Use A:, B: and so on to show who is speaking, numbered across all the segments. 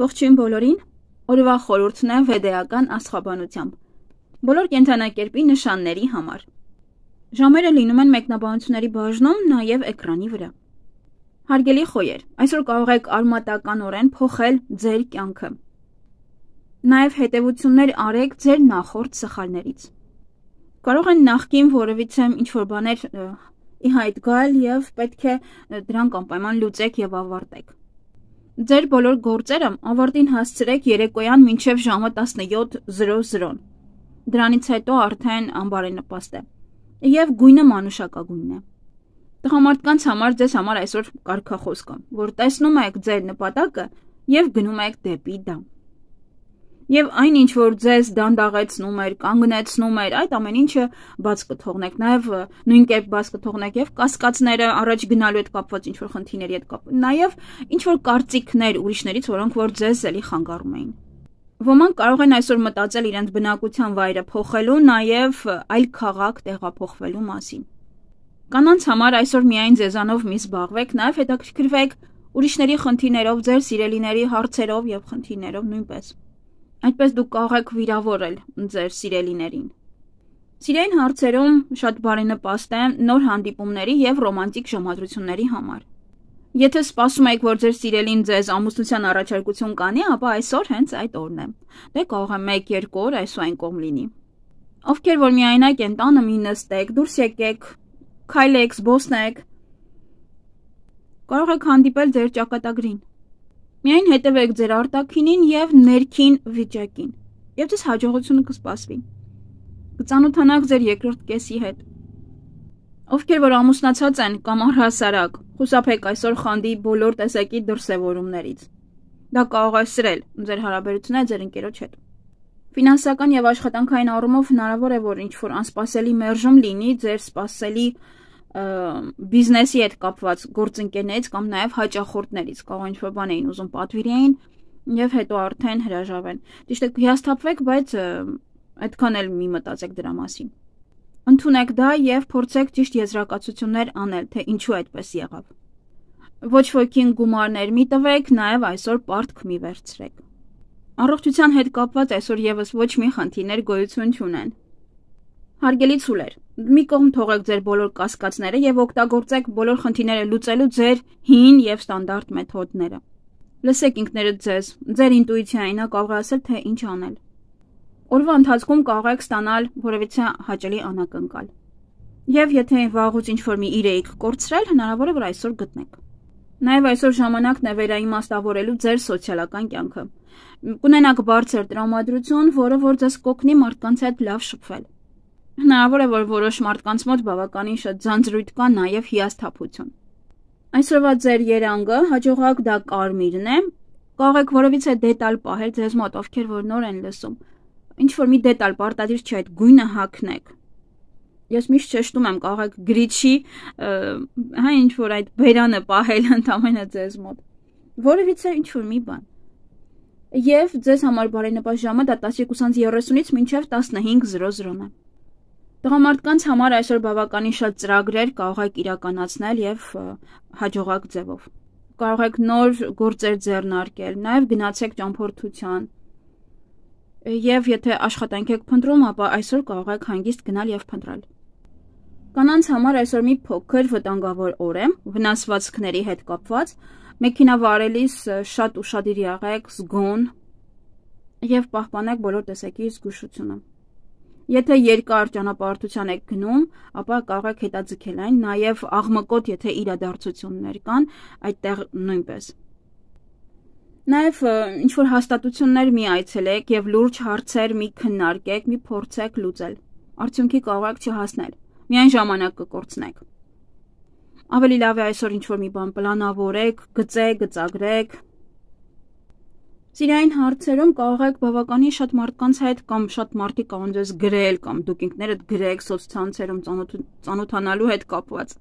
A: Ողջույն բոլորին, օրվա խորհուրդն է վեդեական աստղաբանությամբ, բոլոր կենդանակերպի նշանների համար։ Ժամերը լինում են մեկնաբանությունների բաժնում, նաև էկրանի վրա։ Հարգելի խոյեր, այսօր կարող եք արմատականորեն փոխել ձեր կյանքը։ Նաև հետևություններ արեք ձեր նախորդ սխալներից։ Կարող են նախկին որևիցե ինչ-որ բաներ ի հայտ գալ և պետք է դրանք անպայման լուծեք և ավարտեք։ Ձեր բոլոր գործերը ավարտին հասցրեք երեկոյան մինչև ժամը 17:00, դրանից հետո արդեն անբարենպաստ է, և գույնը մանուշակագույնն է։ Տղամարդկանց համար ձեզ համար այսօր կարգախոս կա, որ տեսնում եք ձեր նպատակը և գնում եք դեպի դա։ Եվ այն ինչ որ ձեզ դանդաղեցնում էր, կանգնեցնում էր, այդ ամեն ինչը բաց կթողնեք, նաև նույն կերպ բաց կթողնեք և կասկածները առաջ գնալու հետ կապված ինչ-որ խնդիրների հետ կապված, նաև ինչ-որ կարծիքներ ուրիշներից, որոնք որ ձեզ էլի խանգարում էին։ Ոմանք կարող են այսօր մտածել իրենց բնակության վայրը փոխելու, նաև այլ քաղաք տեղափոխվելու մասին։ Կանանց համար այսօր միայն ձեզանով մի զբաղվեք, նաև հետաքրքրվեք ուրիշների խնդիրներով, ձեր սիրելիների հարցերով և խնդիրներով նույնպես։ Այդպես դուք կարող եք վիրավորել ձեր սիրելիներին։ Սիրային հարցերում շատ բարենպաստ է նոր հանդիպումների և ռոմանտիկ ժամադրությունների համար։ Եթե սպասում եք, որ ձեր սիրելին ձեզ ամուսնության առաջարկություն կանի, ապա այսօր հենց այդ օրն է։ Դե կարող է 1-2 օր այս ու այն կողմ լինի։ Ովքեր որ միայնակ են տանը, մի նստեք, դուրս եկեք, քայլեք, զբոսնեք։ Կարող եք հանդիպել ձեր ճակատագրին։ Միայն հետևեք ձեր արտաքինին և ներքին վիճակին, և ձեզ հաջողությունը կսպասվի։ Կծանոթանաք ձեր երկրորդ կեսի հետ։ Ովքեր որ ամուսնացած են կամ առհասարակ, խուսափեք այսօր խանդի բոլոր տեսակի դրսևորումներից։ Դա կարող է սրել ձեր հարաբերությունները ձեր ընկերոջ հետ։ Ֆինանսական և աշխատանքային առումով հնարավոր է, որ ինչ-որ անսպասելի մերժում լինի ձեր սպասելի բիզնեսի հետ կապված գործընկերներից կամ նաև հաճախորդներից, կարող ինչ-որ բան էին ուզում պատվիրեին և հետո արդեն հրաժարվեն։ Ճիշտ է, հիասթափվեք, բայց այդքան էլ մի մտածեք դրա մասին։ Ընդունեք դա և փորձեք ճիշտ եզրակացություններ անել, թե ինչու այդպես եղավ։ Ոչ ոքին գումարներ մի տվեք, նաև այսօր պարտք մի վերցրեք։ Առողջության հետ կապված այսօր եւս ոչ մի խնդիրներ գոյություն չունեն։ Հարգելի ցուլեր, մի կողմ թողեք ձեր բոլոր կասկածները և օգտագործեք բոլոր խնդիրները լուծելու ձեր հին և ստանդարտ մեթոդները։ Լսեք ինքներդ ձեզ, ձեր ինտուիցիային, նա կարող է ասել, թե ինչ անել։ Օրվա ընթացքում կարող եք ստանալ որևիցե հաճելի անակնկալ։ Եվ եթե վաղուց ինչ-որ մի իր էիք կորցրել, հնարավոր է, որ այսօր գտնեք։ Նաև այսօր ժամանակն է վերաիմաստավորելու ձեր սոցիալական կյանքը։ Կունենաք բարձր տրամադրություն, որը որ ձեզ կօգնի մարդկանց հետ լավ շփվել։ Հնարավոր է, որ որոշ մարդկանց մոտ բավականին շատ ձանձրույթ կա, նաև հիասթափություն։ Այսօրվա ձեր երանգը հաջողակ դա կարմիրն է, կարող եք որևիցե դետալ պահել ձեզ մոտ, ովքեր որ նոր են լսում։ Ինչ-որ մի դետալ պարտադիր չէ, այդ գույնը հագնեք։ Ես միշտ շեշտում եմ, կարող եք գրիչի, ինչ-որ այդ բերանը պահել ընդամենը ձեզ մոտ։ Որևիցե ինչ-որ մի բան։ Եվ ձեզ համար բարենպաստ ժամը դա 12:30-ից մինչև 15:00-ն է։ Տղամարդկանց համար այսօր բավականին շատ ծրագրեր կարող եք իրականացնել և հաջողակ ձևով։ Կարող եք նոր գործեր ձեռնարկել, նաև գնացեք ճամփորդության։ Եվ եթե աշխատանք եք փնտրում, ապա այսօր կարող եք հանգիստ գնալ և փնտրել։ Կանանց համար այսօր մի փոքր վտանգավոր օր է, վնասվածքների հետ կապված, մեքենա վարելիս շատ ուշադիր եղեք, զգոն և պահպանեք բոլոր տեսակի զգուշությունը։ Եթե երկար ճանապարհորդության եք գնում, ապա կարող եք հետաձգել այն, նաև աղմկոտ, եթե իրադարձություններ կան, այդտեղ նույնպես։ Նաև ինչ-որ հաստատություններ մի այցելեք և լուրջ հարցեր մի քննարկեք, մի փորձեք լուծել։ Արդյունքի կարող եք չհասնել, միայն ժամանակ կկորցնեք։ Ավելի լավ է այսօր ինչ-որ մի բան պլանավորեք, գծեք, գծագրեք։ Սիրային հարցերում կարող եք բավականին շատ մարդկանց հետ կամ շատ մարդիկ կարող են ձեզ գրել կամ դուք ինքներդ գրեք սոցցանցերում ծանոթանալու հետ կապված։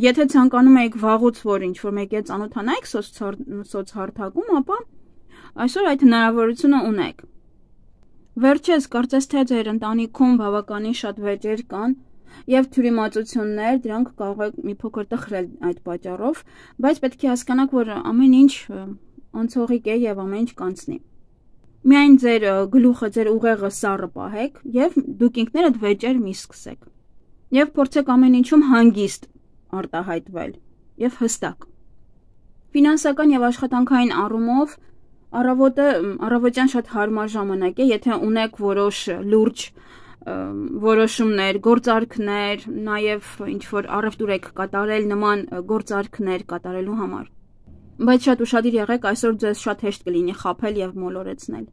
A: Եթե ցանկանում եք վաղուց որ ինչ-որ մեկի հետ ծանոթանայիք սոցհարթակում, ապա այսօր այդ հնարավորությունը ունեք։ Վերջերս կարծես թե ձեր ընտանիքում բավականին շատ վեճեր կան և թյուրիմացություններ, դրանք կարող եք մի փոքր տխրել այդ պատճառով, բայց պետք է հասկանաք, որ ամեն ինչ անցողիկ է եւ ամեն ինչ կանցնի։ Միայն ձեր գլուխը, ձեր ուղեղը սառը պահեք եւ դուք ինքներդ վեճեր մի սկսեք։ Եվ փորձեք ամեն ինչում հանգիստ արտահայտվել եւ հստակ։ Ֆինանսական եւ աշխատանքային առումով առավոտյան շատ հարմար ժամանակ է, եթե ունեք որոշ լուրջ որոշումներ, գործարքներ, նաև ինչ-որ առևտուր եք կատարել նման գործարքներ կատարելու համար։ Բայց շատ ուշադիր եղեք, այսօր ձեզ շատ հեշտ կլինի խաբել եւ մոլորեցնել։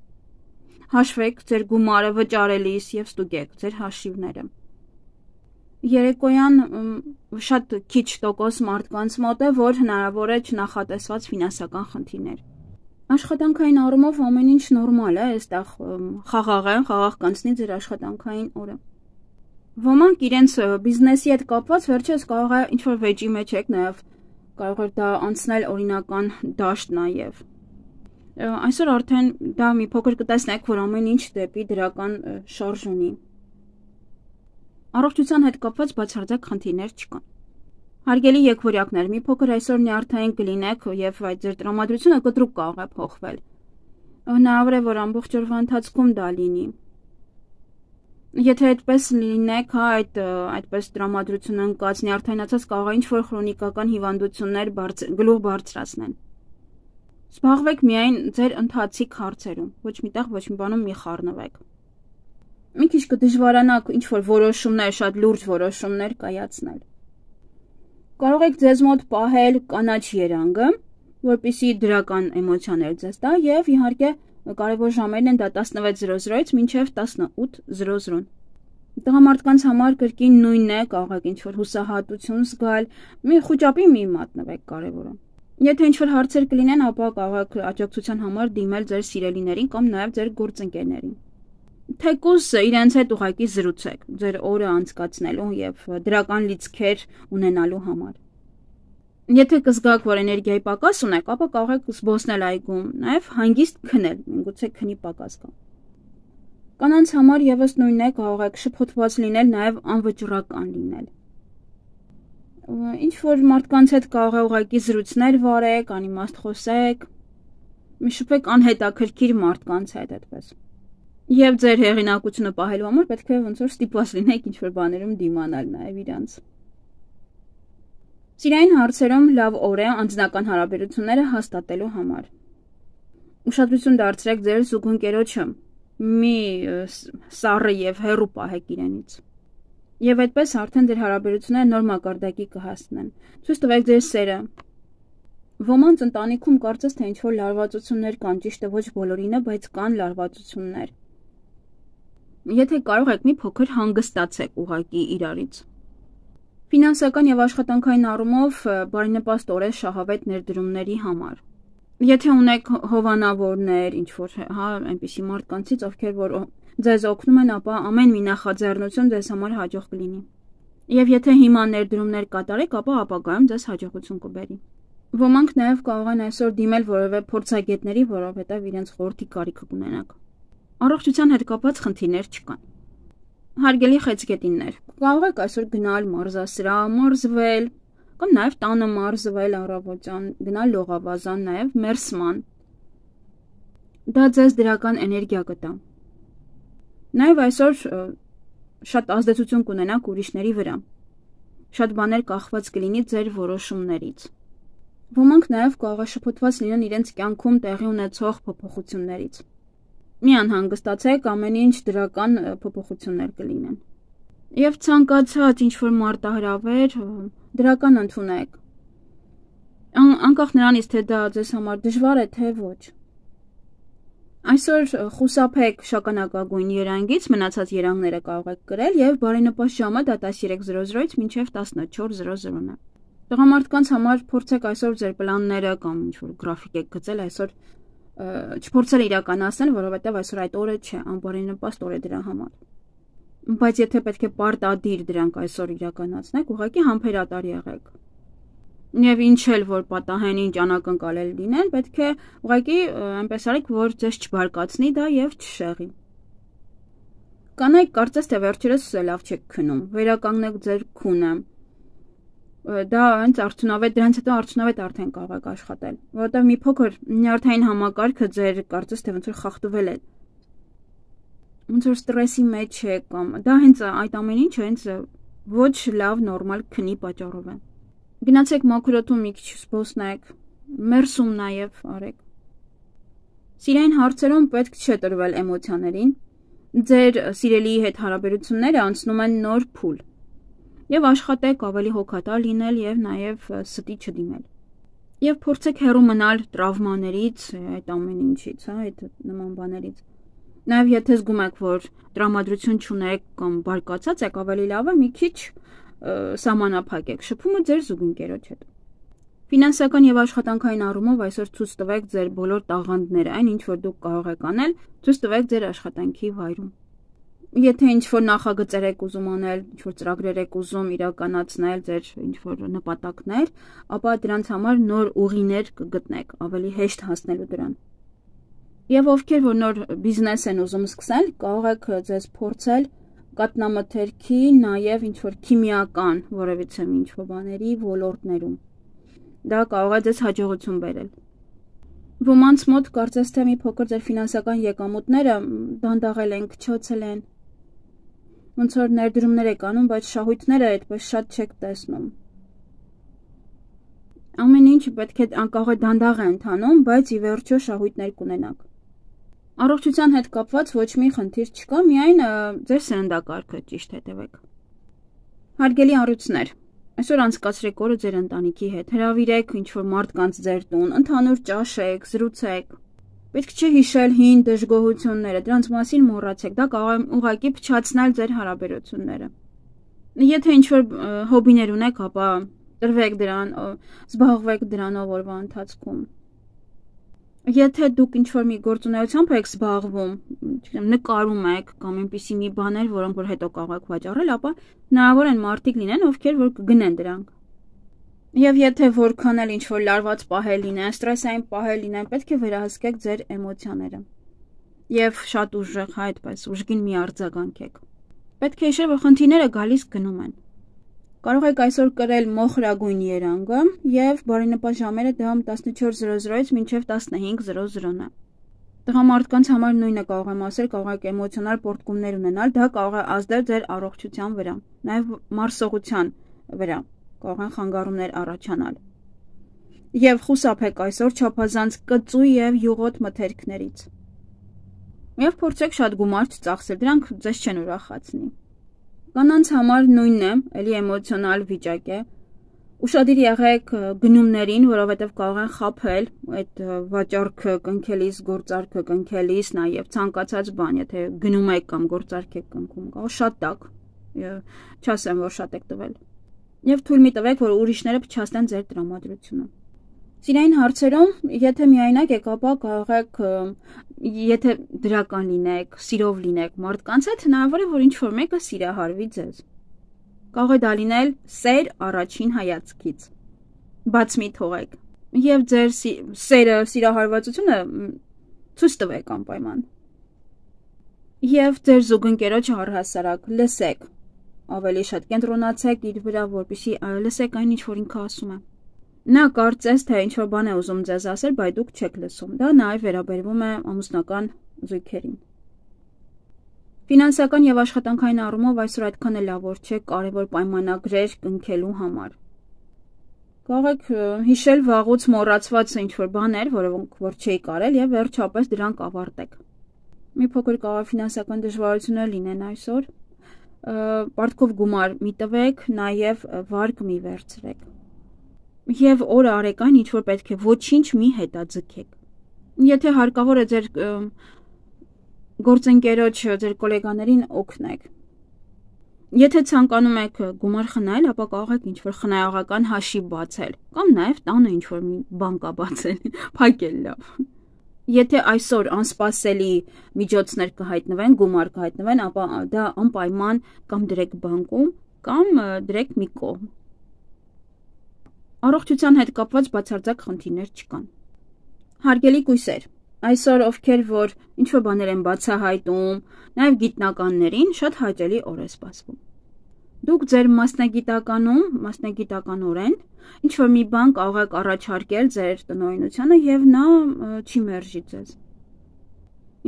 A: Հաշվեք ձեր գումարը վճարելիս եւ ստուգեք ձեր հաշիվները։ Երեկոյան շատ քիչ տոկոս մարդկանց մոտ է, որ հնարավոր է չնախատեսված ֆինանսական խնդիրներ։ Աշխատանքային առումով ամեն ինչ նորմալ է, այստեղ խաղաղ կանցնի ձեր աշխատանքային օրը։ Ոմանք իրենց բիզնեսի հետ կապված վերջերս կարող է ինչ-որ վեճի մեջ եք, նաև կարող է դա անցնել օրինական դաշտ նաև։ Այսօր արդեն դա մի փոքր կտեսնեք, որ ամեն ինչ դեպի դրական շարժ ունի։ Առողջության հետ կապված բացարձակ խնդիրներ չկան։ Հարգելի եկվորյակներ, մի փոքր այսօր նյարդային կլինեք եւ այդ ձեր տրամադրությունը կտրուկ կարող է փոխվել։ Հնարավոր է, որ ամբողջ օրվա ընթացքում դա լինի։ Եթե այդպես լինեք, այդպես տրամադրություն ընկած նյարդայնացած կարող է ինչ-որ քրոնիկական հիվանդություններ գլուխ բարձրացնեն։ Զբաղվեք միայն ձեր ընթացիկ հարցերում, ոչ միտեղ ոչ մի բանում մի խառնվեք։ Մի քիչ կդժվարանաք ինչ-որ որոշումներ, շատ լուրջ որոշումներ կայացնել։ Կարող եք ձեզ մոտ պահել կանաչ երանգը, որպեսզի դրական էմոցիաներ ձեզ տա եւ իհարկե կարևոր ժամերն են դա 16:00-ից մինչեւ 18:00։ Տղամարդկանց համար կրկին նույնն է, կարող եք ինչ-որ հուսահատություն զգալ, մի խոճապի մի մատնվեք կարևորը։ Եթե ինչ-որ հարցեր կլինեն, ապա կարող եք աջակցության համար դիմել ձեր սիրելիներին կամ նաեւ ձեր գործընկերներին։ Թեկուզ իրենց հետ ուղղակի զրուցեք ձեր օրը անցկացնելու եւ դրական լիցքեր ունենալու համար։ Եթե կզգաք, որ էներգիայի պակաս ունեք, ապա կարող եք զբոսնել այգում, նաեւ հանգիստ քնել, միգուցե քնի պակաս կա։ Կանանց համար եւս նույնն է, կարող եք շփոթված լինել, նաեւ անվճռական լինել։ Ինչ որ մարդկանց հետ կարող է ուղղակի զրույցներ վարեք, անիմաստ խոսեք, մի շփեք անհետաքրքիր մարդկանց հետ այդպես։ Եվ ձեր հեղինակությունը պահելու համար պետք է ոնց որ ստիպված լինեք ինչ-որ բաներում դիմանալ նաև իրանց։ Սիրային հարցերում լավ օր է անձնական հարաբերությունները հաստատելու համար։ Ուշադրություն դարձրեք ձեր զուգընկերոջը, մի սառը եւ հեռու պահեք իրենից։ Եվ այդպես արդեն ձեր հարաբերությունները նոր մակարդակի կհասնեն։ Ցույց տվեք ձեր սերը։ Ոմանց ընտանիքում կարծես թե ինչ-որ լարվածություններ կան, ճիշտ է ոչ բոլորինը, բայց կան լարվածություններ։ Եթե կարող եք մի փոքր հանգստացեք ուղակի իրարից։ Ֆինանսական եւ աշխատանքային առումով բարենպաստ օր է շահավետ ներդրումների համար։ Եթե ունեք հովանավորներ, ինչ-որ այնպիսի մարդկանցից, ովքեր որ ձեզ օգնում են, ապա ամեն մի նախաձեռնություն ձեզ համար հաջող կլինի։ Եվ եթե հիմա ներդրումներ կատարեք, ապա ապագայում ձեզ հաջողություն կբերի։ Ոմանք նաեւ կարող են այսօր դիմել որևէ փորձագետների, որովհետեւ իրենց խորհրդի կարիքը կունենաք։ Առողջության հետ կապված խնդիրներ չկան։ Հարգելի խեցգետիններ, կարող եք այսօր գնալ մարզասրահ, մարզվել, կամ նաև տանը մարզվել առավոտյան, գնալ լողավազան, նաև մերսման։ Դա ձեզ դրական էներգիա կտա։ Նաև այսօր շատ ազդեցություն կունենաք ուրիշների վրա։ Շատ բաներ կախված կլինի ձեր որոշումներից։ Ոմանք նաև կարող է շփոթված լինեն իրենց կյանքում տեղի ունեցող փոփոխություններից։ Մի անհանգստացեք, ամեն ինչ դրական փոփոխություններ կլինեն։ Եվ ցանկացած ինչ-որ մարտահրավեր դրական ընդունեք։ Անկախ նրանից, թե դա ձեզ համար դժվար է, թե ոչ։ Այսօր խուսափեք շագանակագույն երանգից, մնացած երանգները կարող եք կրել եւ բարենպաստ ժամը դա 13:00-ից մինչեւ 14:00-ն է։ Տղամարդկանց համար փորձեք այսօր ձեր պլանները կամ ինչ-որ գրաֆիկ եք գծել այսօր չփորձել իրականացնել, որովհետև այսօր այդ օրը չէ, անբարենպաստ օր է դրա համար։ Բայց եթե պետք է պարտադիր դրանք այսօր իրականացնեք, ուղղակի համբերատար եղեք։ Եվ ինչ էլ որ պատահեն ինչ անակնկալել լինեն, պետք է ուղղակի այնպես արեք, որ ձեզ չբարկացնի դա եւ չշեղի։ Կանայք կարծես թե վերջերս լավ չեք քնում, վերականգնեք ձեր քունը։ դա հենց արդյունավետ, դրանից հետո արդյունավետ արդեն կարող եք աշխատել, որովհետև մի փոքր նյարդային համակարգը ձեր կարծես թե ոնց որ խախտվել է, ոնց որ ստրեսի մեջ է կամ դա հենց այդ ամեն ինչը հենց ոչ լավ նորմալ քնի պատճառով է։ Գնացեք մաքրոթում մի քիչ զբոսնեք, մերսում նաև արեք։ Սիրային հարցերում պետք չէ տրվել էմոցիաներին, ձեր սիրելիի հետ հարաբերությունները անցնում են նոր փուլ։ Եվ աշխատեք ավելի հոգատար լինել եւ նաեւ ստի չդիմել։ Եվ փորձեք հեռու մնալ տրավմաներից, այդ ամեն ինչից, այդ նման բաներից։ Նաեւ եթե զգում եք, որ տրամադրություն չունեք կամ բարկացած եք, ավելի լավ է մի քիչ սահմանափակեք շփումը ձեր զուգընկերոջ հետ։ Ֆինանսական եւ աշխատանքային առումով այսօր ցույց տվեք ձեր բոլոր տաղանդները, այն ինչ որ դուք կարող եք անել, ցույց տվեք ձեր աշխատանքի վայրում։ Եթե ինչ-որ նախագծեր եք ուզում անել, ինչ-որ ծրագրեր եք ուզում իրականացնել ձեր ինչ-որ նպատակներ, ապա դրանց համար նոր ուղիներ կգտնեք, ավելի հեշտ հասնելու դրան։ Եվ ովքեր որ նոր բիզնես են ուզում սկսել, կարող եք ձեզ փորձել կատնամթերքի, նաև ինչ-որ քիմիական, որևիցե ինչ-որ բաների ոլորտներում։ Դա կարող է ձեզ հաջողություն բերել։ Ոմանց մոտ կարծես թե մի փոքր ձեր ֆինանսական եկամուտները դանդաղել են, քչացել են։ Ոնց որ ներդրումներ եք անում, բայց շահույթները այդպես շատ չեք տեսնում։ Ամեն ինչ պետք է կարող է դանդաղ է ընթանում, բայց ի վերջո շահույթներ կունենաք։ Առողջության հետ կապված ոչ մի խնդիր չկա, միայն ձեր սննդակարգը ճիշտ հետևեք։ Հարգելի առյուծներ, այսօր անցկացրեք օրը ձեր ընտանիքի հետ, հրավիրեք ինչ-որ մարդկանց ձեր տուն, ընդհանուր ճաշեք, զրուցեք։ Պետք չէ հիշել հին դժգոհությունները, դրանց մասին մոռացեք, դա կարող է ուղղակի փչացնել ձեր հարաբերությունները։ Եթե ինչ-որ հոբիներ ունեք, ապա տրվեք դրան, զբաղվեք դրանով օրվա ընթացքում։ Եթե դուք ինչ-որ մի գործունեությամբ եք զբաղվում, նկարում եք կամ այնպիսի մի բաներ, որոնք որ հետո կարող եք վաճառել, ապա հնարավոր են մարդիկ լինեն, ովքեր որ կգնեն դրանք։ Եվ եթե որքան էլ ինչ-որ լարված պահել լինեն, ստրեսային պահել լինեն, պետք է վերահսկեք ձեր էմոցիաները։ Եվ շատ ուժեղ, այդպես, ուժգին մի արձագանքեք։ Պետք է հիշել, որ խնդիրները գալիս գնում են։ Կարող եք այսօր կրել մոխրագույն երանգը եւ բարենպաստ ժամերը դա 14:00-ից մինչեւ 15:00-ն է։ Տղամարդկանց համար նույնը կարող եմ ասել, կարող եք էմոցիոնալ պոռթկումներ ունենալ, դա կարող է ազդել ձեր առողջության վրա, նաեւ մարսողության վրա, կարող են խանգարումներ առաջանալ։ Եվ խուսափեք այսօր չափազանց կծու եւ յուղոտ մթերքներից։ Եվ փորձեք շատ գումար չծախսել, դրանք ձեզ չեն ուրախացնի։ Կանանց համար նույնն է, էլի էմոցիոնալ վիճակ է։ Ուշադիր եղեք գնումներին, որովհետև կարող են խաբել այդ վաճառքը կնքելիս, գործարքը կնքելիս, նաև ցանկացած բան, եթե գնում եք կամ գործարք եք կնքում, կարող շատ տակ, չասեմ, որ շատ եք տվել։ Եվ թույլ մի տվեք, որ ուրիշները փչացնեն ձեր տրամադրությունը։ Սիրային հարցերում, եթե միայնակ եք, ապա կարող եք, եթե դրական լինեք, սիրով լինեք մարդկանց հետ, հնարավոր է, որ ինչ-որ մեկը սիրահարվի ձեզ։ Կարող է դա լինել սեր առաջին հայացքից։ Բաց մի թողեք։ Եվ ձեր սերը, սիրահարվածությունը ցույց տվեք անպայման։ Եվ ձեր զուգընկերոջը առհասարակ լսեք։ Ավելի շատ կենտրոնացեք իր վրա, որպեսզի լսեք այն, ինչ որ ինքը ասում է։ Նա կարծես թե ինչ-որ բան է ուզում ձեզ ասել, բայց դուք չեք լսում։ Դա նաև վերաբերվում է ամուսնական զույգերին։ Ֆինանսական եւ աշխատանքային առումով այսօր այդքան էլ լավ չէ կարևոր պայմանագրեր կնքելու համար։ Կարող եք հիշել վաղուց մոռացված ինչ-որ բաներ, որոնք որ չէի կարել եւ վերջապես դրանք ավարտեք։ Մի փոքր կարող է ֆինանսական դժվարություններ լինեն այսօր։ Պարտքով գումար մի տվեք, նաև վարկ մի վերցրեք։ Եվ օրը արեք այն, ինչ որ պետք է, ոչինչ մի հետաձգեք։ Եթե հարկավոր է ձեր գործընկերոջ, ձեր գոլեգաներին օգնեք։ Եթե ցանկանում եք գումար խնայել, ապա կարող եք ինչ-որ խնայողական հաշիվ բացել, կամ նաև տանը ինչ-որ մի բան կա բացել, փակել լավ։ Եթե այսօր անսպասելի միջոցներ կհայտնվեն, գումար կհայտնվեն, ապա դա անպայման կամ դրեք բանկում, կամ դրեք մի կողմ։ Առողջության հետ կապված բացարձակ խնդիրներ չկան։ Հարգելի կույսեր, այսօր ովքեր որ ինչ-որ բաներ են բացահայտում, նաև գիտնականներին շատ հաճելի օր է սպասվում։ Դուք ձեր մասնագիտականորեն ինչ-որ մի բան կարող եք առաջարկել ձեր տնօրինությանը և նա չի մերժի ձեզ։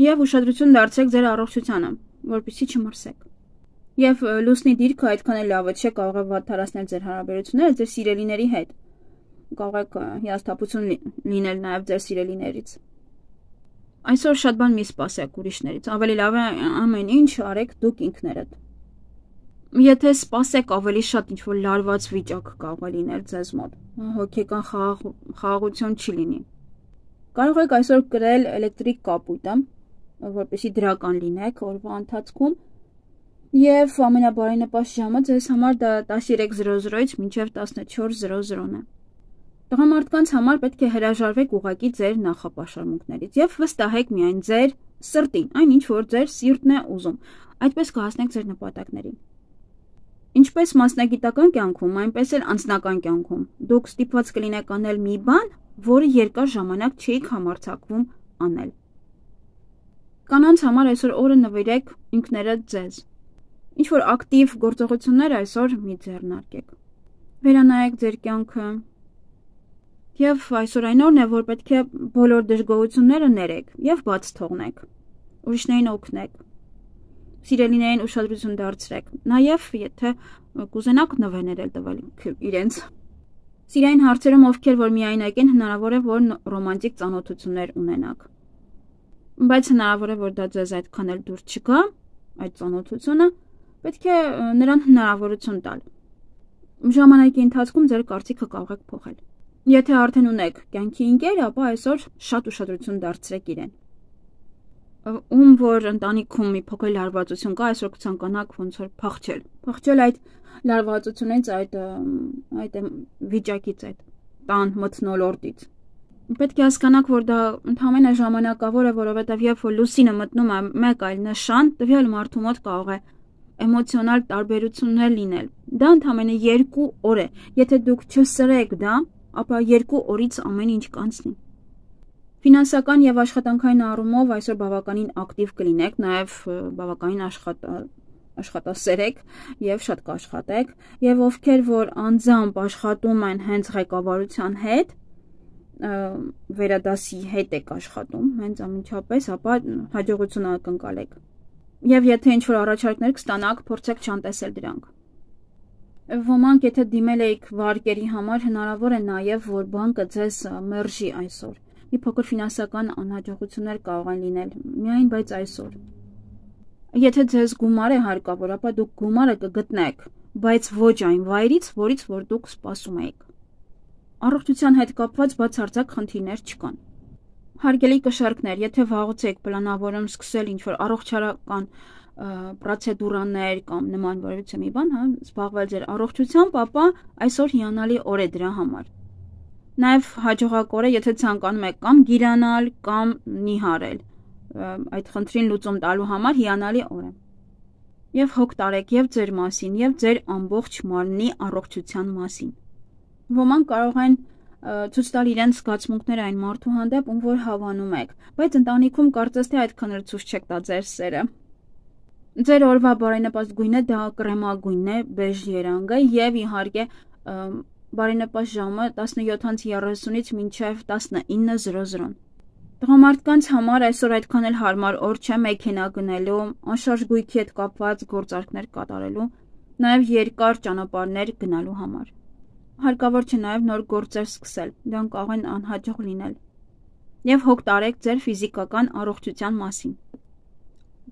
A: Եվ ուշադրություն դարձրեք ձեր առողջությանը, որպեսզի չմրսեք։ Եվ լուսնի դիրքը այդքան էլ լավը չէ, կարող է վատթարացնել ձեր հարաբերությունները ձեր սիրելիների հետ։ Կարող եք հիասթափություն լինել նաև ձեր սիրելիներից։ Այսօր շատ բան մի սպասեք ուրիշներից, ավելի լավ է ամեն ինչ արեք դուք ինքներդ։ Եթե սպասեք ավելի շատ ինչ-որ լարված վիճակ կարող է լինել ձեզ մոտ, հոգեկան խաղաղություն չի լինի։ Կարող եք այսօր կրել էլեկտրիկ կապույտը, որպեսզի դրական լինեք օրվա ընթացքում, և ամենաբարենպաստ ժամը ձեզ համար դա 13:00-ից մինչև 14:00-ն է։ Տղամարդկանց համար պետք է հրաժարվեք ուղղակի ձեր նախապաշարմունքներից և վստահեք միայն ձեր սրտին, այնինչ որ ձեր սիրտն է ուզում, այդպես կհասնեք ձեր նպատակներին։ Ինչպես մասնագիտական կյանքում, այնպես էլ անձնական կյանքում դուք ստիպված կլինեք անել մի բան, որը երկար ժամանակ չէիք համարձակվում անել։ Կանանց համար այսօր օրը նվիրեք ինքներդ ձեզ։ Ինչ-որ ակտիվ գործողություններ այսօր մի ձեռնարկեք։ Վերանայեք ձեր կյանքը։ Եվ այսօր այն օրն է, որ պետք է բոլոր դժգոհությունները ներեք և բաց թողնեք, ուրիշներին օգնեք, սիրելիներին ուշադրություն դարձրեք, նաև եթե կուզենաք նվերներ էլ տվել իրենց։ Սիրային հարցերում ովքեր որ միայնակ են, հնարավոր է, որ ռոմանտիկ ծանոթություններ ունենաք։ Բայց հնարավոր է, որ դա ձեզ այդքան էլ դուր չգա, այդ ծանոթությունը, պետք է նրան հնարավորություն տալ։ Ժամանակի ընթացքում ձեր կարծիքը կարող եք փոխել։ Եթե արդեն ունեք կյանքի ընկեր, ապա այսօր շատ ուշադրություն դարձրեք իրեն։ Ում որ ընտանիքում մի փոքր լարվածություն կա, այսօր կցանկանաք ոնց որ փախչել այդ լարվածությունից, այդ վիճակից, այդ տան մթնոլորտից։ Պետք է հասկանաք, որ դա ընդհանրապես ժամանակավոր է, որովհետև երբ որ լուսինը մտնում է մեկ այլ նշան, տվյալ մարդու մոտ կարող է էմոցիոնալ տարբերություններ լինել։ Դա ընդհանրապես 2 օր է։ Եթե դուք չսրեք դա, ապա 2 օրից ամեն ինչ կանցնի։ Ֆինանսական և աշխատանքային առումով այսօր բավականին ակտիվ կլինեք, նաև բավականին աշխատասեր եք և շատ կաշխատեք, և ովքեր որ անձամբ աշխատում են հենց ղեկավարության հետ, վերադասի հետ եք աշխատում, հենց ամենչապես, ապա հաջողություն ակնկալեք։ Եվ եթե ինչ-որ առաջարկներ կստանաք, փորձեք չանտեսել դրանք։ Ոմանք եթե դիմել էիք վարկերի համար, հնարավոր է նաև, որ բանկը ձեզ մերժի այսօր։ Մի փոքր ֆինանսական անհաջողություններ կարող են լինել, միայն բայց այսօր։ Եթե ձեզ գումար է հարկավոր, ապա դուք գումարը կգտնեք, բայց ոչ այն վայրից, որից որ դուք սպասում էիք։ Առողջության հետ կապված բացարձակ խնդիրներ չկան։ Հարգելի կշառքներ, եթե վաղուց եք պլանավորում սկսել ինչ-որ առողջարական պրոցեդուրաներ կամ նման որևիցե մի բան, զբաղվել ձեր առողջությամբ, ապա այսօր հիանալի օր է դրա համար։ Նաև հաջողակ օր է, եթե ցանկանում եք կամ գիրանալ, կամ նիհարել, այդ խնդրին լուծում տալու համար հիանալի օր է։ Եվ հոգ տարեք և ձեր մասին, և ձեր ամբողջ մարմնի առողջության մասին։ Ոմանք կարող են ցույց տալ իրենց զգացմունքները այն մարդու հանդեպ, ում որ հավանում եք, բայց ընտանիքում կարծես թե այդքան էլ ցույց չեք տա ձեր սերը։ Ձեր օրվա բարենպաստ գույնը դա կրեմագույնն է, բեժ երանգը և իհարկե բարենպաստ ժամը 17:30-ից մինչև 19:00։ Տղամարդկանց համար այսօր այդքան էլ հարմար օր չէ մեքենա գնելու, անշարժ գույքի հետ կապված գործարքներ կատարելու, նաև երկար ճանապարհներ գնալու համար։ Հարկավոր չէ նաև նոր գործեր սկսել, դրանք կարող են անհաջող լինել։ Եվ հոգ տարեք ձեր ֆիզիկական առողջության մասին։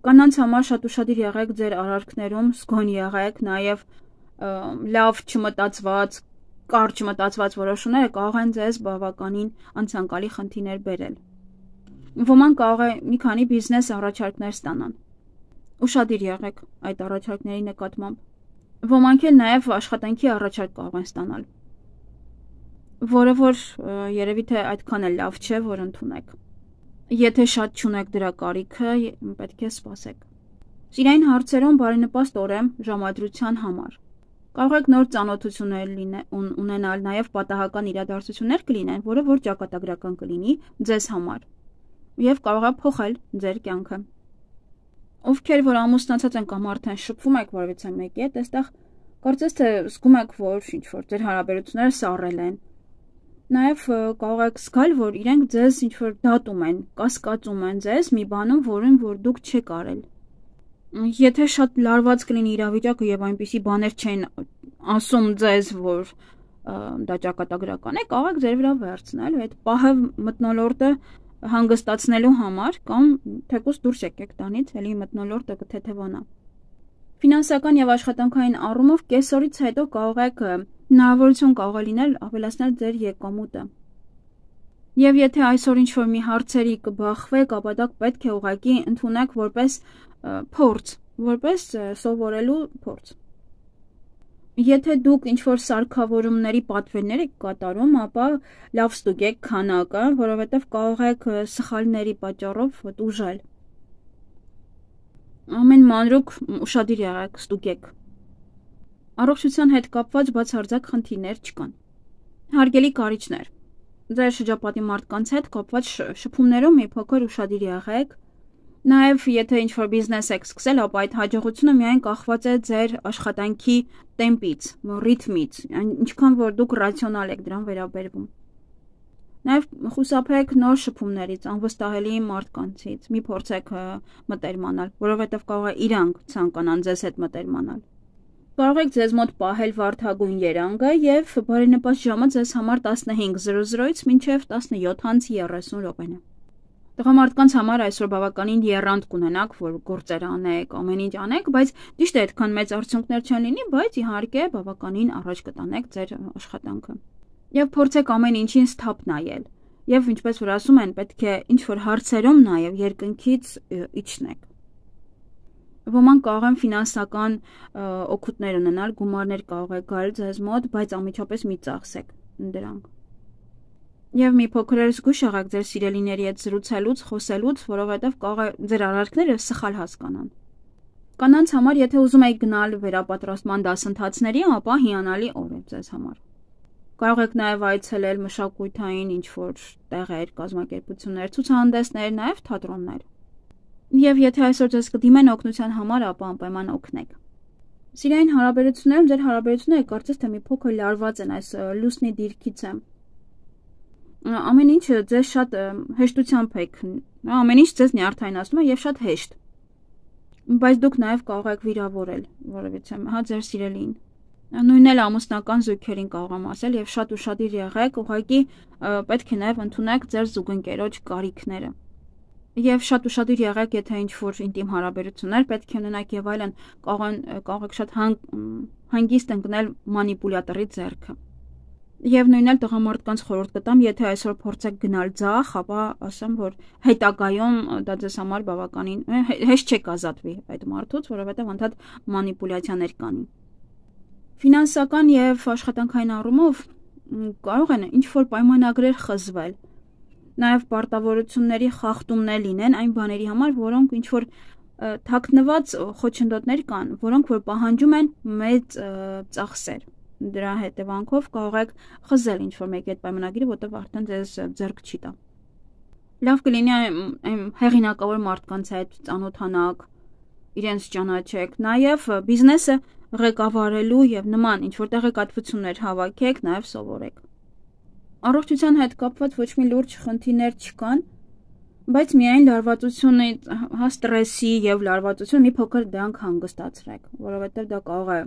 A: Կանանց համար շատ ուշադիր եղեք ձեր արարքներում, զգոն եղեք, նաև լավ չմտածված, կարճ մտածված որոշումները կարող են ձեզ բավականին անցանկալի խնդիրներ բերել։ Ոմանք կարող է մի քանի բիզնես առաջարկներ ստանան։ Ուշադիր եղեք այդ առաջարկների նկատմամբ։ Ոմանք էլ նաև աշխատանքի առաջարկ կարող են ստանալ, որը որ երևի թե այդքան էլ լավ չէ, որ ընդունեք։ Եթե շատ չունեք դրա կարիքը, պետք է սպասեք։ Սիրային հարցերում բարենպաստ օր է ժամադրության համար։ Կարող եք նոր ծանոթություններ ունենալ, նաև պատահական իրադարձություններ կլինեն, որը որ ճակատագրական կլինի ձեզ համար և կարող է փոխել ձեր կյանքը։ Ովքեր որ ամուսնացած են կամ արդեն շփվում եք որևիցե մեկի հետ, այստեղ Կարծես թե զգում եք, որ ինչ-որ ձեր հարաբերությունները սառել են։ Նաև կարող եք զգալ, որ իրենք ձեզ ինչ-որ դատում են, կասկածում են ձեզ մի բանում, որին որ դուք չեք արել։ Եթե շատ լարված կլինի իրավիճակը եւ այնպիսի բաներ չեն ասում ձեզ, որ դա ճակատագրական է, կարող եք ձեր վրա վերցնել այդ պահը մթնոլորտը հանգստացնելու համար կամ թեկուզ դուրս եկեք տանից, էլի մթնոլորտը կթեթևանա։ Ֆինանսական եւ աշխատանքային առումով կեսօրից հետո կարող եք հնարավորություն կարող է լինել ավելացնել ձեր եկամուտը։ Եվ եթե այսօր ինչ-որ մի հարցերի կբախվեք, ապա դա պետք է ուղղակի ընդունեք որպես փորձ, որպես սովորելու փորձ։ Եթե դուք ինչ-որ սարքավորումների պատվերներ եք կատարում, ապա լավ ստուգեք քանակը, որովհետև կարող եք սխալների պատճառով տուժել։ Ամեն մանրուք ուշադիր եղեք, ստուգեք։ Առողջության հետ կապված բացարձակ խնդիրներ չկան։ Հարգելի կարիճներ, ձեր շրջապատի մարդկանց հետ կապված շփումներում մի փոքր ուշադիր եղեք։ Նաև եթե ինչ-որ բիզնես եք սկսել, ապա այդ հաջողությունը միայն կախված է ձեր աշխատանքի տեմպից, ռիթմից, ինչքան որ դուք ռացիոնալ եք դրան վերաբերվում։ Նաև խուսափեք նոր շփումներից, անվստահելի մարդկանցից, մի փորձեք մտերմանալ, որովհետև կարող է իրանք ցանկանան ձեզ հետ մտերմանալ։ Կարող եք ձեզ մոտ պահել վարդագույն երանգը եւ բարենպաստ ժամը ձեզ համար 15:00-ից մինչեւ 17:30 րոպեն է։ Տղամարդկանց համար այսօր բավականին եռանդ կունենաք, որ գործեր անեք, ամեն ինչ անեք, բայց ճիշտ է այդքան մեծ արդյունքներ չեն լինի, բայց իհարկե բավականին առաջ կտանեք ձեր աշխատանքը։ Եվ փորձեք ամեն ինչին սթափ նայել։ Եվ ինչպես որ ասում են, պետք է ինչ-որ հարցերում նաեւ երկնքից իջնեք։ Ոմանք կարող են ֆինանսական օգուտներ ունենալ, գումարներ կարող է գալ ձեզ մոտ, բայց անմիջապես մի ծախսեք դրանք։ Եվ մի փոքր զգույշ եղեք ձեր սիրելիների հետ զրուցելուց, խոսելուց, որովհետև կարող է ձեր արարքները սխալ հասկանան։ Կանանց համար, եթե ուզում եք գնալ վերապատրաստման դասընթացների, ապա հիանալի օր է ձեզ համար։ Կարող եք նաև այցելել մշակութային ինչ-որ տեղեր, կազմակերպություններ, ցուցահանդեսներ, նաև թատրոններ։ Եվ եթե այսօր ձեզ կդիմեն օգնության համար, ապա անպայման օգնեք։ Սիրային հարաբերություններում ձեր հարաբերությունները կարծես թե մի փոքր լարված են այս լուսնի դիրքից է։ Ամեն ինչը ձեզ շատ հեշտությամբ եք, ամեն ինչ ձեզ նյարդայնացնում է եւ շատ հեշտ։ Բայց դուք նաեւ կարող եք վիրավորել, որովհետեւ հա ձեր սիրելին։ Նույնն էլ ամուսնական զույգերին կարող եմ ասել եւ շատ ուշադիր եղեք, ուղղակի պետք է նաեւ ընդունեք ձեր զուգընկերոջ կարիքները։ Եվ շատ ուշադիր եղեք, եթե ինչ-որ ինտիմ հարաբերություններ պետք է ունենաք եւ այլն, կարող եք շատ հանգիստ ընկնել մանիպուլյատորի ձեռքը։ Եվ նույնն էլ տղամարդկանց խորհուրդ կտամ, եթե այսօր փորձեք գնալ ձախ, ապա ասեմ, որ հետագայում դա ձեզ համար բավականին հեշտ չեք ազատվի այդ մարդուց, որովհետև անդադ մանիպուլյացիաներ կանի։ Ֆինանսական եւ աշխատանքային առումով կարող են ինչ-որ պայմանագրեր խզվել։ Նաեւ պարտավորությունների խախտումներ լինեն այն բաների համար, որոնք ինչ-որ թաքնված խոչընդոտներ կան, որոնք որ պահանջում են մեծ ծախսեր։ Դրա հետևանքով կարող եք խզել ինչ-որ մեկի այդ պայմանագիրը, որտեղ արդեն ձեզ ձեռք չի տա։ Լավ կլինի այն հեղինակավոր մարդկանց հետ ծանոթանաք, իրենց ճանաչեք, նաև բիզնեսը ղեկավարելու եւ նման ինչ-որ տեղեկատվություններ հավաքեք, նաև սովորեք։ Առողջության հետ կապված ոչ մի լուրջ խնդիրներ չկան, բայց միայն լարվածությունը, հա ստրեսի եւ լարվածությունը մի փոքր դրանք հանգստացրեք, որովհետեւ դա կարող է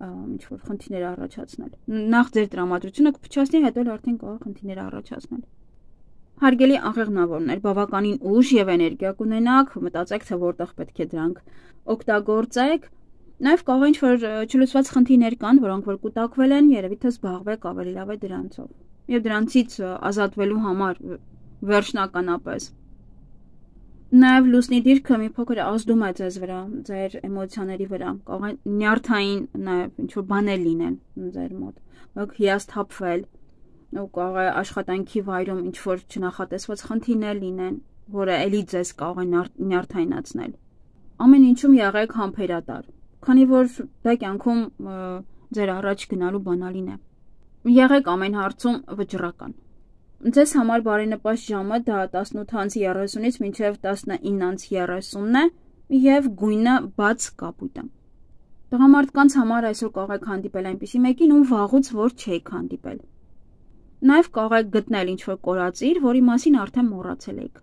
A: ինչ-որ խնդիրներ առաջացնել։ Նախ ձեր տրամադրությունը կփչացնի, հետո արդեն կարող խնդիրներ առաջացնել։ Հարգելի աղեղնավորներ, բավականին ուժ եւ էներգիա կունենաք, մտածեք, թե որտեղ պետք է դրանք օգտագործեք։ Նաեւ կարող ինչ-որ չլուծված խնդիրներ կան, որոնք որ կուտակվել են, երևի թե զբաղվեք ավելի լավ է դրանցով։ Եվ դրանցից ազատվելու համար վերջնականապես Նաև լուսնի դիրքը մի փոքր ազդում է ձեզ վրա, ձեր էմոցիաների վրա, կարող է նյարդային նաև ինչ-որ բաներ լինեն ձեր մոտ, կարող հիասթափվել, կարող է աշխատանքի վայրում ինչ-որ չնախատեսված խնդիրներ լինեն, որը էլի ձեզ կարող է նյարդայնացնել։ Ամեն ինչում եղեք համբերատար, քանի որ դա կյանքում ձեր առաջ գնալու բանալին է։ Եղեք ամեն հարցում վճռական։ Ձեզ համար բարենպաստ ժամը դա 18:30-ից մինչև 19:30-ն է եւ գույնը բաց կապույտ է։ Տղամարդկանց համար այսօր կարող եք հանդիպել այնպիսի մեկին, ում վաղուց որ չէիք հանդիպել։ Նաև կարող եք գտնել ինչ-որ կորածիր, որի մասին արդեն մոռացել եք։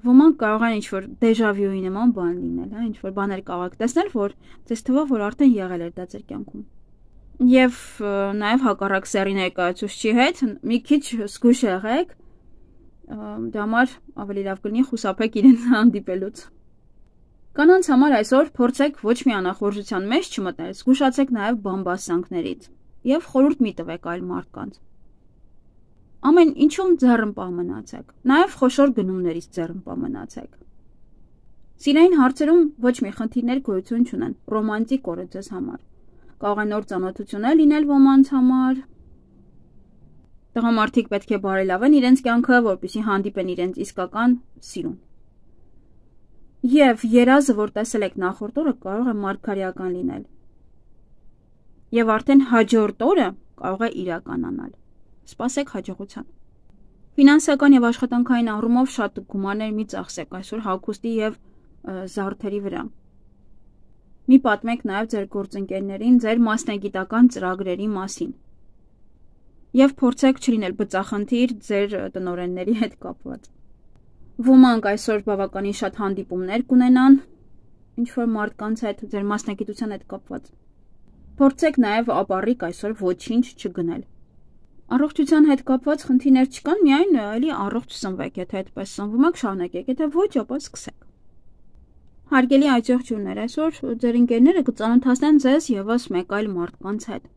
A: Ոմանք կարող են ինչ-որ դեժավյուի նման բան լինել, ինչ-որ բաներ կարող եք տեսնել, որ ձեզ թվա, որ արդեն եղել էր դա ձեր կյանքում։ Եվ նաև հակառակ սեռի ներկայացուցչի հետ մի քիչ զգույշ եղեք, դրա համար ավելի լավ կլինի խուսափեք իրենց հանդիպելուց։ Կանանց համար այսօր փորձեք ոչ մի անախորժության մեջ չմտնել, զգուշացեք նաև բամբասանքներից եւ խորհուրդ մի տվեք այլ մարդկանց։ Ամեն ինչում ձեռնպահ մնացեք, նաև խոշոր գնումներից ձեռնպահ մնացեք։ Սիրային հարցերում ոչ մի խնդիրներ գոյություն չունեն, ռոմանտիկ օր է ձեզ համար։ Կարող է նոր ծանոթություններ լինել ոմանց համար։ Տղամարդիկ պետք է բարելավեն իրենց կյանքը, որպեսզի հանդիպեն իրենց իսկական սիրուն։ Եվ երազը, որ տեսել եք նախորդ օրը, կարող է մարգարեական լինել։ Եվ արդեն հաջորդ օրը կարող է իրականանալ։ Սպասեք հաջողության։ Ֆինանսական եւ աշխատանքային առումով շատ գումարներ մի ծախսեք այսօր հագուստի եւ զարդերի վրա։ Մի պատմեք նաեւ ձեր գործընկերներին ձեր մասնագիտական ծրագրերի մասին։ Եվ փորձեք չլինել բծախնդիր ձեր տնօրենների հետ կապված։ Ոմանք այսօր բավականին շատ հանդիպումներ կունենան ինչ-որ մարդկանց հետ ձեր մասնագիտության հետ կապված։ Փորձեք նաև ապառիկ այսօր ոչինչ չգնել։ Առողջության հետ կապված խնդիրներ չկան, միայն էլի առողջ սնվեք, եթե այդպես սնվում եք, շարունակեք, եթե ոչ, ապա սկսեք։ Հարգելի այցողջուրներ, այսօր ձեր ընկերները կծանոթացնեն ձեզ եւս մեկ այլ մարդկանց հետ,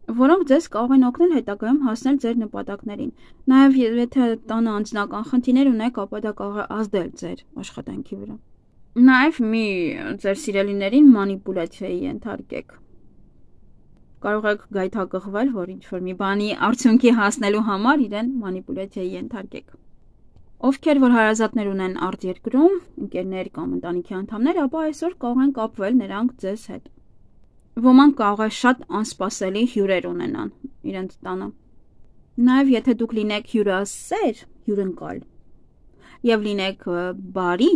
A: որոնք ձեզ կարող են օգնել հետագայում հասնել ձեր նպատակներին։ Նաև եթե տանը անձնական խնդիրներ ունեք, ապա դա կարող է ազդել ձեր աշխատանքի վրա։ Նաև մի ձեր սիրելիներին մանիպուլյացիայի ենթարկեք։ Կարող եք գայթակղվել, որ ինչ-որ մի բանի արդյունքի հասնելու համար իրեն մանիպուլյացիայի ենթարկեք։ Ովքեր որ հարազատներ ունեն արտերկրում, ընկերներ կամ ընտանիքի անդամներ, ապա այսօր կարող են կապվել նրանք ձեզ հետ։ Ոմանք կարող է շատ անսպասելի հյուրեր ունենան իրենց տանը։ Նաև եթե դուք լինեք հյուրասեր, հյուրընկալ եւ լինեք բարի,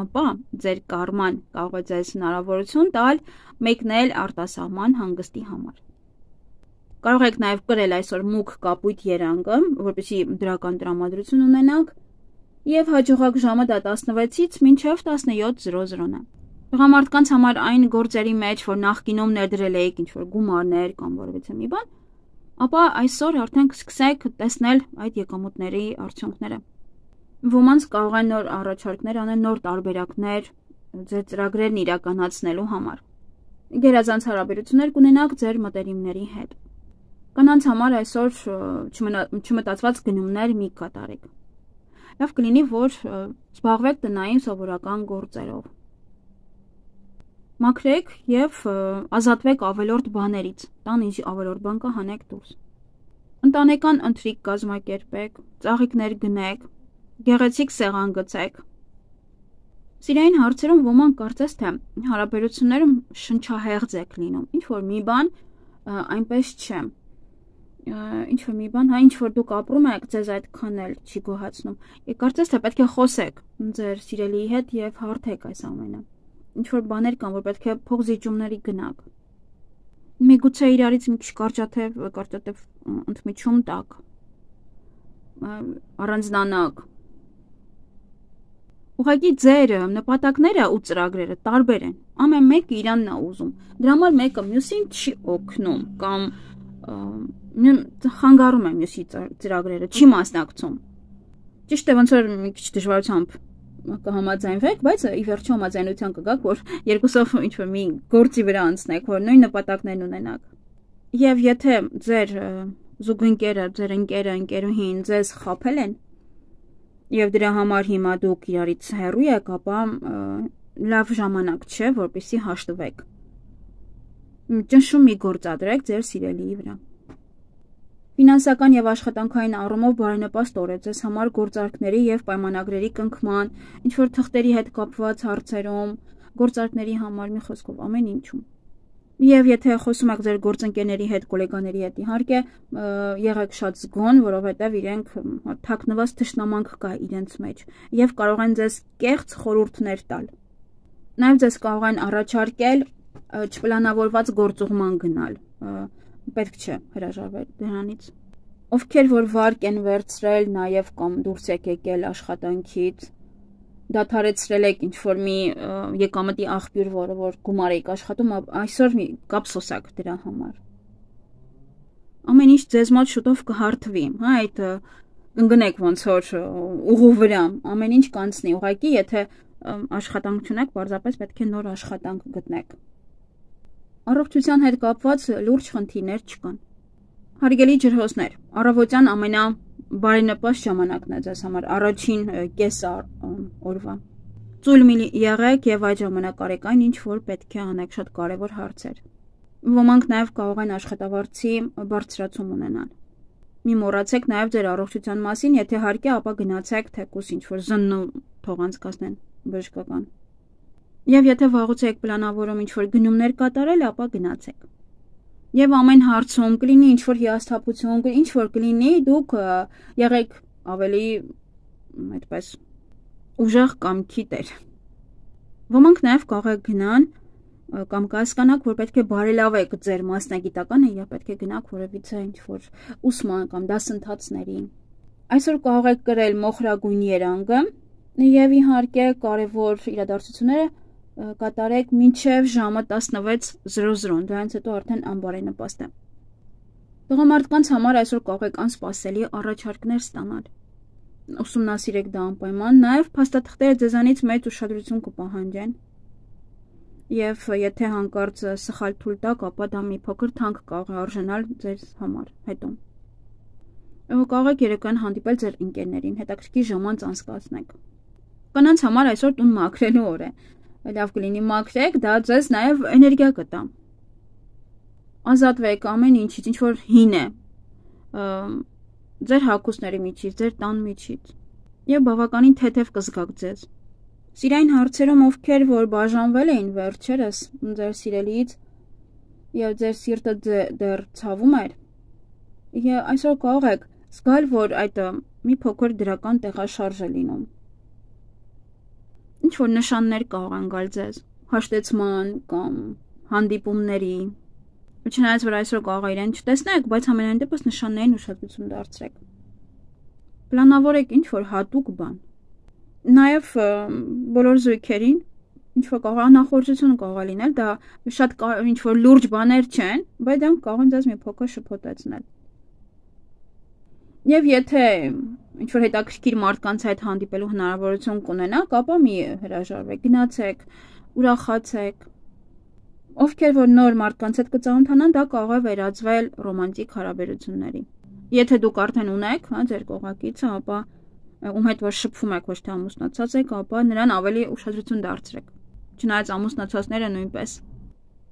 A: ապա ձեր կարման կարող է ձեզ հնարավորություն տալ մեկնել արտասահման հանգստի համար։ Կարող եք նաև կրել այսօր մուգ կապույտ երանգը, որպեսզի դրական տրամադրություն ունենաք, եւ հաջողակ ժամը դա 16-ից մինչև 17:00-ն է։ Տղամարդկանց համար այն գործերի մեջ, որ նախկինում ներդրել էիք ինչ-որ գումարներ կամ որևէ մի բան, ապա այսօր արդեն կսկսեք տեսնել այդ եկամուտների արդյունքները։ Ոմանց կարող են նոր առաջարկներ անել, նոր տարբերակներ ձեր ծրագրերն իրականացնելու համար։ Գերազանց հարաբերություններ կունենաք ձեր մտերիմների հետ։ Կանանց համար այսօր չմտածված գնումներ մի կատարեք։ Լավ կլինի, որ զբաղվեք տնային սովորական գործերով։ Մաքրեք եւ ազատվեք ավելորդ բաներից։ Տան ինչ ավելորդ բան կա, հանեք դուրս։ Ընտանեկան ընթրիք կազմակերպեք, ծաղիկներ գնեք, գեղեցիկ սեղան գցեք։ Սիրային հարցերում ոմանք կարծես թե հարաբերություններում շնչահեղձ եք լինում։ Ինչ որ մի բան այնպես չէ։ Ինչ որ մի բան, ինչ որ դուք ապրում եք, ձեզ այդքան էլ չի գոհացնում։ Եկ կարծես թե պետք է խոսեք ձեր սիրելիի հետ եւ հարթեք այս ամենը։ Ինչ որ բաներ կան, որ պետք է փոխզիջումների գնաք։ Միգուցե իրարից մի քիչ կարճատև ընդմիջում տակ։ Առանձնանաք։ Ուղղակի ձեր նպատակները ու ծրագրերը տարբեր են։ Ամեն մեկը իրանն է ուզում։ Դրա համար մեկը մյուսին չի օգնում կամ խանգարում է մյուսի ծրագրերը, չի մասնակցում։ Ճիշտ է, ոնց որ մի քիչ դժվարությամբ կհամաձայնվեք, բայց ի վերջո համաձայնության կգաք, որ երկուսով ինչ-որ մի գործի վրա անցնեք, որ նույն նպատակներն ունենաք։ Եվ եթե ձեր զուգընկերը, ձեր ընկերը, ընկերուհին ձեզ խաբել են, եւ դրա համար հիմա դուք իրարից հեռու եք, ապա լավ ժամանակ չէ, որպեսզի հաշտվեք։ Ճնշում մի գործադրեք ձեր սիրելիի վրա։ Ֆինանսական եւ աշխատանքային առումով բարենպաստ օր է ձեզ համար գործարքների եւ պայմանագրերի կնքման, ինչ որ թղթերի հետ կապված հարցերում, գործարքների համար մի խոսքով ամեն ինչում։ Եվ եթե խոսում եք ձեր գործընկերների հետ, գոլեգաների հետ, իհարկե եղեք շատ զգոն, որովհետեւ իրենք թաքնված թշնամանք կա իրենց մեջ եւ կարող են ձեզ կեղծ խորհուրդներ տալ։ Նաեւ ձեզ կարող են առաջարկել չպլանավորված գործուղման գնալ, պետք չէ հրաժարվել դրանից։ Ովքեր որ վարկ են վերցրել նաև կամ դուրս եք եկել աշխատանքից, դադարեցրել եք ինչ-որ մի եկամտի աղբյուր, որը որ գումար եք աշխատում, այսօր կապսոսակ դրա համար։ Ամեն ինչ ձեզ մոտ շուտով կհարթվի, հա, այդ ընկնեք ոնց որ ուղու վրա, ամեն ինչ կանցնի, ուղղակի եթե աշխատանք չունեք, պարզապես պետք է նոր աշխատանք գտնեք։ Առողջության հետ կապված լուրջ խնդիրներ չկան։ Հարգելի ջրհոսներ, առավոտյան ամենաբարենպաստ ժամանակն է ձեզ համար, առաջին կես օրվա։ Ծույլ եղեք եւ այդ ժամանակ արեք այն, ինչ որ պետք է անեք, շատ կարեւոր հարցեր։ Ոմանք նաեւ կարող են աշխատավարձի բարձրացում ունենալ։ Մի մոռացեք նաեւ ձեր առողջության մասին, եթե հարկ է, ապա գնացեք թեկուս ինչ որ զննու թող անցկացնեն բժշկական։ Եվ եթե վաղուց եք պլանավորում ինչ որ գնումներ կատարել, ապա գնացեք։ Եվ ամեն հարցում կլինի ինչ որ հիասթափություն, ինչ որ կլինի, դուք եղեք ավելի այդպես ուժեղ կամքի տեր։ Ոմանք նաև կարող եք գնան կամ կհասկանաք, որ պետք է բարելավեք ձեր մասնագիտականը եւ պետք է գնաք որևիցե ինչ որ ուսման կամ դասընթացների։ Այսօր կարող եք կրել մոխրագույն երանգը եւ իհարկե կարեւոր իրադարձությունները կատարեք մինչև ժամը 16:00, դրանից հետո արդեն անբարենպաստ է։ Տղամարդկանց համար այսօր կարող եք անսպասելի առաջարկներ ստանալ։ Ուսումնասիրեք դա անպայման, նաև փաստաթղթերը ձեզանից մեծ ուշադրություն կպահանջեն։ Եվ եթե հանկարծ սխալ թույլ տաք, ապա դա մի փոքր թանկ կարող է արժանալ ձեզ համար հետո։ Կարող եք երեկոյան հանդիպել ձեր ընկերներին, հետաքրքիր ժամանց անցկացնեք։ Կանանց համար այսօր տուն մաքրելու օր է։ Լավ կլինի մաքրեք, դա ձեզ նաև էներգիա կտա։ Ազատվեք ամեն ինչից, ինչ որ հին է, ձեր հագուստների միջից, ձեր տան միջից, եւ բավականին թեթև կզգաք ձեզ։ Սիրային հարցերում ովքեր որ բաժանվել էին վերջերս ձեր սիրելիից եւ ձեր սիրտը դեռ ցավում էր, եւ այսօր կարող եք զգալ, որ այդ մի փոքր դրական տեղաշարժ է լինում։ Ինչ որ նշաններ կարող են գալ ձեզ հաշտեցման կամ հանդիպումների, չնայած որ այսօր կարող է իրեն չտեսնեք, բայց ամենայն դեպս նշաններին ուշադրություն դարձրեք։ Պլանավորեք ինչ որ հատուկ բան։ Նաև բոլոր զույգերին ինչ որ կարող անախորժություն կարող է լինել, դա շատ ինչ որ լուրջ բաներ չեն, բայց դրանք կարող են ձեզ մի փոքր շփոթեցնել։ Եվ եթե ինչ որ հետաքրքիր մարդկանց հետ հանդիպելու հնարավորություն կունենաք, ապա մի հրաժարվեք, գնացեք, ուրախացեք։ Ովքեր որ նոր մարդկանց հետ կծանոթանան, դա կարող է վերածվել ռոմանտիկ հարաբերությունների։ Եթե դուք արդեն ունեք, հա, ձեր կողակիցը, ապա ում հետ որ շփվում եք, ոչ թե ամուսնացած եք, ապա նրան ավելի ուշադրություն դարձրեք։ Չնայած ամուսնացածները նույնպես։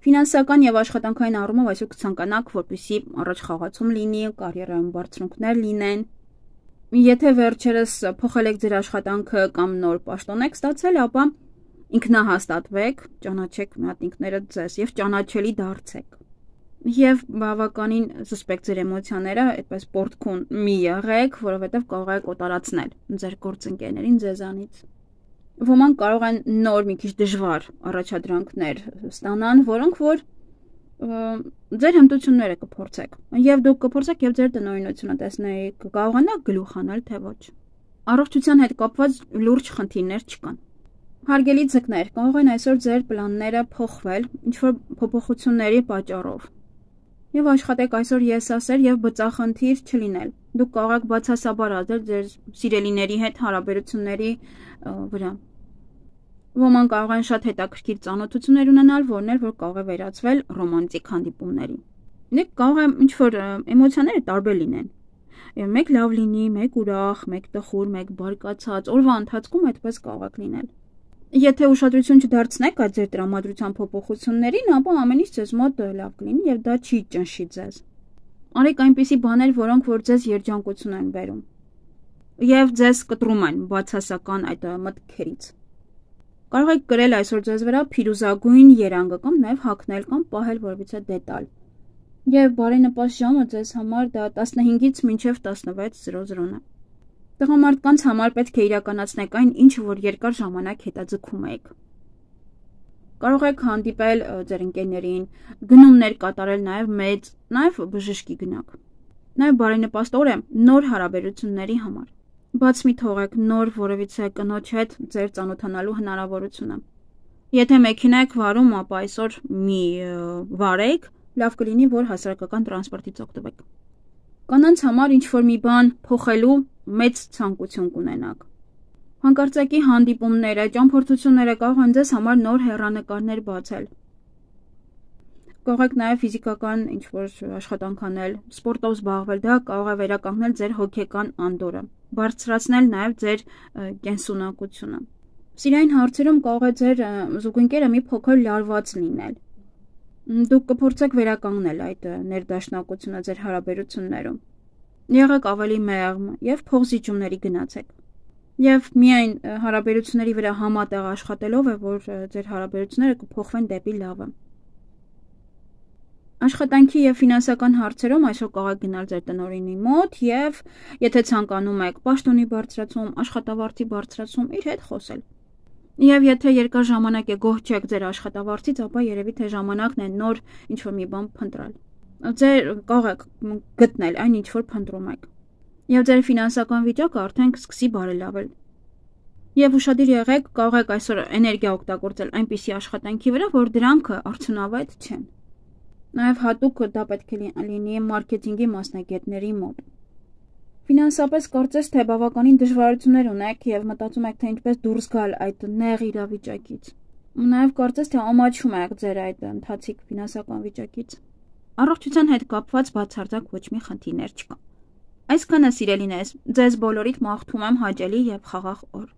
A: Ֆինանսական եւ աշխատանքային առումով այսօր կցանկանաք, որպեսզի առաջ խաղացում լինի, կարիերայում բարձրունքներ լինեն։ Եթե վերջերս փոխել եք ձեր աշխատանքը կամ նոր պաշտոն եք ստացել, ապա ինքնահաստատվեք, ճանաչեք մատնիկները ձեզ եւ ճանաչելի դարձեք։ Եվ բավականին զսպեք ձեր էմոցիաները, այդպես պորտքուն մի եղեք, որովհետեւ կարող եք օտարացնել ձեր գործընկերներին ձեզանից։ Ոմանք կարող են նոր մի քիչ դժվար առաջադրանքներ ստանան, որոնք որ ձեր հմտությունները կփորձեք։ Եվ դուք կփորձեք եւ ձեր տնօրինությունը տեսնեք, կկարողանաք գլուխ հանել, թե ոչ։ Առողջության հետ կապված լուրջ խնդիրներ չկան։ Հարգելի ձկներ, կարող են այսօր ձեր պլանները փոխվել ինչ որ փոփոխությունների պատճառով։ Եվ աշխատեք այսօր եսասեր եւ բծախնդիր չլինել։ Դուք կարող եք բացասաբար ազդել ձեր սիրելիների հետ հարաբերությունների վրա։ Ոմանք կարող են շատ հետաքրքիր ծանոթություններ ունենալ, որներ որ կարող է վերածվել ռոմանտիկ հանդիպումների։ Դուք կարող է ինչ որ էմոցիաները տարբեր լինեն։ Մեկ լավ լինի, մեկ ուրախ, մեկ տխուր, մեկ բարկացած, օրվա ընթացքում այդպես կարող է լինել։ Եթե ուշադրություն չդարձնեք այդ ձեր տրամադրության փոփոխություններին, ապա ամեն ինչ ձեզ մոտ լավ կլինի եւ դա չի ճնշի ձեզ։ Արեք այնպիսի բաներ, որոնք որ ձեզ երջանկություն են բերում եւ ձեզ կտրում են բացասական այդ մտքերից։ Կարող եք կրել այսօր ձեզ վրա փիրուզագույն երանգը կամ նաեւ հագնել կամ պահել որևիցե դետալ։ Եվ բարենպաստ ժամը ձեզ համար դա 15-ից մինչև 16:00-ն է։ Տղամարդկանց համար պետք է իրականացնեք այն, ինչ որ երկար ժամանակ հետաձգում եք։ Կարող եք հանդիպել ձեր ընկերներին, գնումներ կատարել նաև բժշկի գնաք։ Նաև բարենպաստ օր է նոր հարաբերությունների համար։ Բաց մի թողեք նոր որևիցե կնոջ հետ ձեր ծանոթանալու հնարավորությունը։ Եթե մեքենա եք վարում, ապա այսօր մի վարեք, լավ կլինի, որ հասարակական տրանսպորտից օգտվեք։ Կանանց համար ինչ-որ մի բան փոխելու մեծ ցանկություն կունենաք։ Հանկարծակի հանդիպումները, ճամփորդությունները կարող են ձեզ համար նոր հեռանկարներ բացել։ Կարող եք նաև ֆիզիկական ինչ-որ աշխատանք անել, սպորտով զբաղվել, դա կարող է վերականգնել ձեր հոգեկան անդորրը, բարձրացնել նաև ձեր կենսունակությունը։ Սիրային հարցերում կարող է ձեր զուգընկերը մի փոքր լարված լինել։ Դուք կփորձեք վերականգնել այդ ներդաշնակությունը ձեր հարաբերություններում։ Եղեք ավելի մեղմ եւ փոխզիջումների գնացեք։ Եվ միայն հարաբերությունների վրա համատեղ աշխատելով է, որ ձեր հարաբերությունները կփոխվեն դեպի լավը։ Աշխատանքի եւ ֆինանսական հարցերում այսօր կարող եք գնալ ձեր տնօրինի մոտ եւ եթե ցանկանում եք պաշտոնի բարձրացում, աշխատավարձի բարձրացում, իր հետ խոսել։ Եվ եթե երկար ժամանակ է գոհ չեք ձեր աշխատավարձից, ապա երևի թե ժամանակն է նոր ինչ-որ մի բան փնտրել։ Ձեր կարող եք գտնել այն ինչ որ փնտրում եք։ Եվ ձեր ֆինանսական վիճակը արդեն կսկսի բարելավել։ Եվ ուշադիր եղեք, կարող եք այսօր էներգիա օգտագործել այնպիսի աշխատանքի վրա, որ դրանք արդյունավետ չեն։ Նաև հատուկ դա պետք է լինի մարքեթինգի մասնագետների մոտ։ Ֆինանսապես կարծես թե բավականին դժվարություններ ունեք եւ մտածում եք թե ինչպես դուրս գալ այդ նեղ իրավիճակից։ Նաև կարծես թե ամաչում եք ձեր այդ ընթացիկ ֆինանսական վիճակից։ Առողջության հետ կապված բացարձակ ոչ մի խնդիրներ չկա։ Այսքանը սիրելիներս, ձեզ բոլորիդ մաղթում եմ հաճելի եւ խաղաղ օր։